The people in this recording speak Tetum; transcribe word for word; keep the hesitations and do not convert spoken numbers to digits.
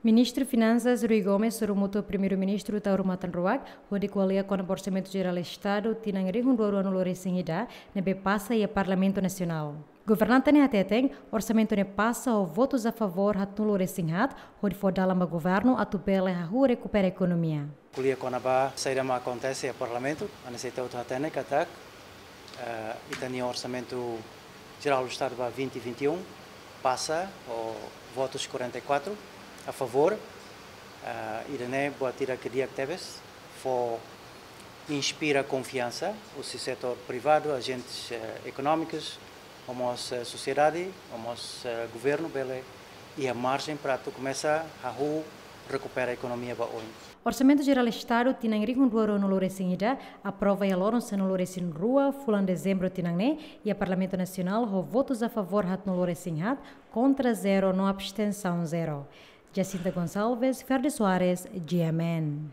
Ministru Finansas Rui Gomes sorumutu Primeiru-Ministru Taur Matan Ruak hodi ko'alia kona-ba Orsamentu Jerál Estadu tinan rihun rua rua-nulu resin ida ne'ebé pasa iha Parlamentu Nasionál. Governante ne'e hateten, orsamentu ne'e pasa ho votus a favór haatnulu resin haat, hodi fó dalan ba governu atu bele hahú rekupera ekonomia. Ko'alia kona-ba saida mak akontese iha Parlamentu, hanesan ita hotu hatene katak, eh, ita-nia Orsamentu Jerál Estadu ba vinte vinte e um pasa ho votus quarenta e quatro a favór, eh, ida-ne'e buat ida ke di'ak tebes, fó inspira konfiansa husi setór privadu, ajentes, eh, ekonómikus, ho mós, eh, sosiedade, ho mós, eh, governu bele iha marjen para atu komesa hahú rekupera ekonomia ba oin. Orsamentu Jerál Estadu tinan rihun rua rua-nulu resin ida aprova iha loron sanulu resin rua fulan Dezembru tinan ne'e iha Parlamentu Nasionál ho votus a favór haatnulu resin haat, kontra zero no abstensaun zero. Jacinta Gonçalves, Ferdi Soares, G M N.